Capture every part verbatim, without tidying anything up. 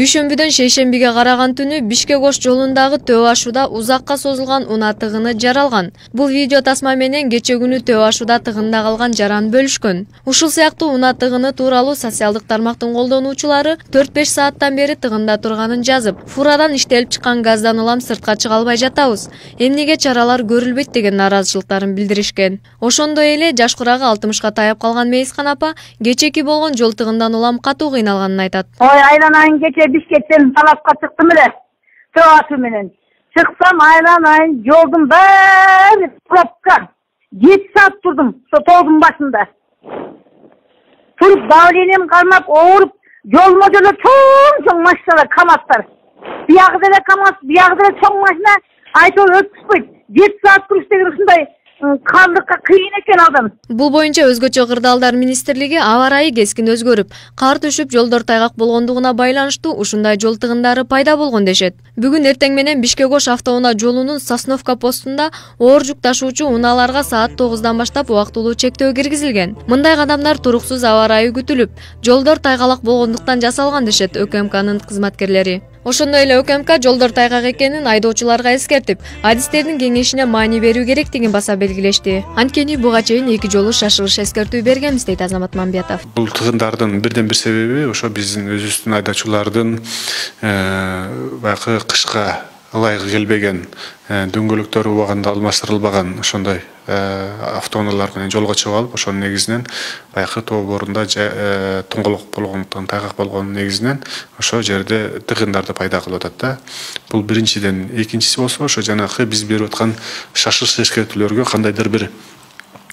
Дүйшөмбүдөн шейшембиге караган түнү Бишкек Ош жолундагы төө ашууда узакка созулган унаа тыгыны жаралган. Бул видео тасма менен кече күнү төө ашууда тыгында калган жаран бөлүшкөн. Ушул сыяктуу унаа тыгыны тууралуу социалдык тармактын колдонуучулары төрт беш сааттан бери тыгында турганын жазып, фурадан иштелип чыккан газдан улам сыртка чыга албай жатабыз. Эмнеге чаралар көрүлбөйт деген нааразычылыктарын билдиришкен. Ошондой эле жаш курагы алтымышка таяп калган Мейискан апа кечеки болгон жол тыгындан улам катуу кыйналганын айтат. Ой, айланайын кече Бишкектен талапка чыктым эле. Төө ашы менен. Чыксам айланайын жолдун баары пробка. жети саат турдум со тоодун башында. Туруп давлением кармап, ооруп, жолума деле чоң-чоң машиналар, КамАЗдар. Биягы деле КамАЗ, биягы деле чоң машина айтып өткүзбөйт. жети саат туруш деген ушундай кандыкка кыйын экен адам. Бул боюнча өзгөчө кырдаалдар министрлиги аба ырайы кескин өзгөрүп, кар түшүп, жолдор тайгак болгондугуна байланыштуу ушундай жол тыгындары пайда болгон дешет. Бүгүн эртең менен Бишкек Ош автоунаа жолунун Сосновка постунда оор жүк ташуучу унааларга саат тогуздан баштап убактылуу чектөө киргизилген. Мындай кадамдар туруксуз аба ырайы күтүлүп, жолдор тайгалак болгондуктан жасалган дешет ÖKМКнын кызматкерлери. Ошондой эле ÖKМК жолдор тайгак экенин айдоочуларга эскертип, адистердин кеңешине маани берүү керектигин баса белгилешти. Анткени буга чейин эки жолу шашылыш эскертүү бергенбиз, дейт Азамат Мамбетов. Бул тыгындардын бирден бир себеби ошо биздин өзүбүздүн айдоочулардын баягы кышка ылайык келбеген, дөңгөлөктөрү убагында алмаштырылбаган ошондой автоунаалар менен жолго чыгып алып, ошонун негизинен баягы тоо борунда тоңголок болгондуктан, тайгак болгонун негизинен ошо жерде тыгындарды пайда кылып атат да. Бул биринчиден. Экинчиси болсо ошо жанагы биз берип аткан шашылыш эскертүүлөргө кандайдыр бир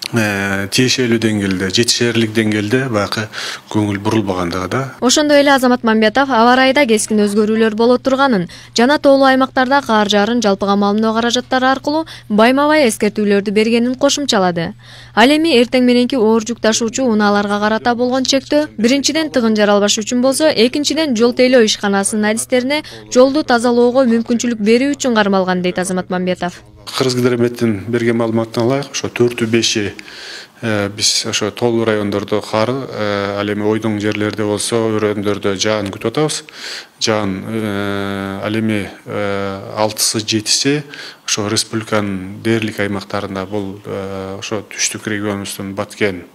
тиешелүү деңгээлде, жетишээрлик деңгээлде баягы көңүл бурулбагандыгы да. Ошондой эле Азамат Мамбетов аба ырайда кескин өзгөрүүлөр боло турганын жана тоолуу аймактарда кар жаарын жалпыга маалымдоо каражаттары аркылуу байма-бай эскертүүлөрдү бергенин кошумчалады. Ал эми эртең мененки оор жүк ташуучу унааларга карата болгон чектөө биринчиден тыгын жаралбаш үчүн болсо, экинчиден жол тейлөө ишканасынын адистерине жолду тазалоого мүмкүнчүлүк берүү үчүн кармалган, дейт Азамат Мамбетов. Кыргызгидрометтин берген маалыматына ылайык, ошо төртү беши биз ошо тоолуу райондордо кар, ал эми ойдоң жерлерде болсо, өрөөндөрдө жаан күтүп атабыз. Жаан ал эми алтысы жетиси ошо республиканын дээрлик аймактарында, бул ошо түштүк регионубуздун Баткен,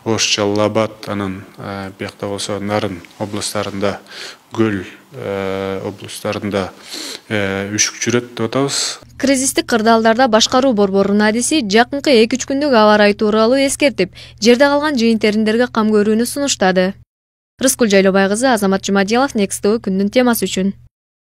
Ош, Жалал Абад, анан биякта болсо Нарын областарында, Көл областарында үшүк жүрөт деп атабыз. Кризистик кырдаалдарда башкаруу борборунун адиси жакынкы эки үч күндүк аба ырайы тууралуу эскертип, жерде калган жыйын-териндерге кам көрүүнү сунуштады. Рыскүл Жайлобай кызы, Азамат Жумадилов, Next тэ вэ күндүн темасы үчүн.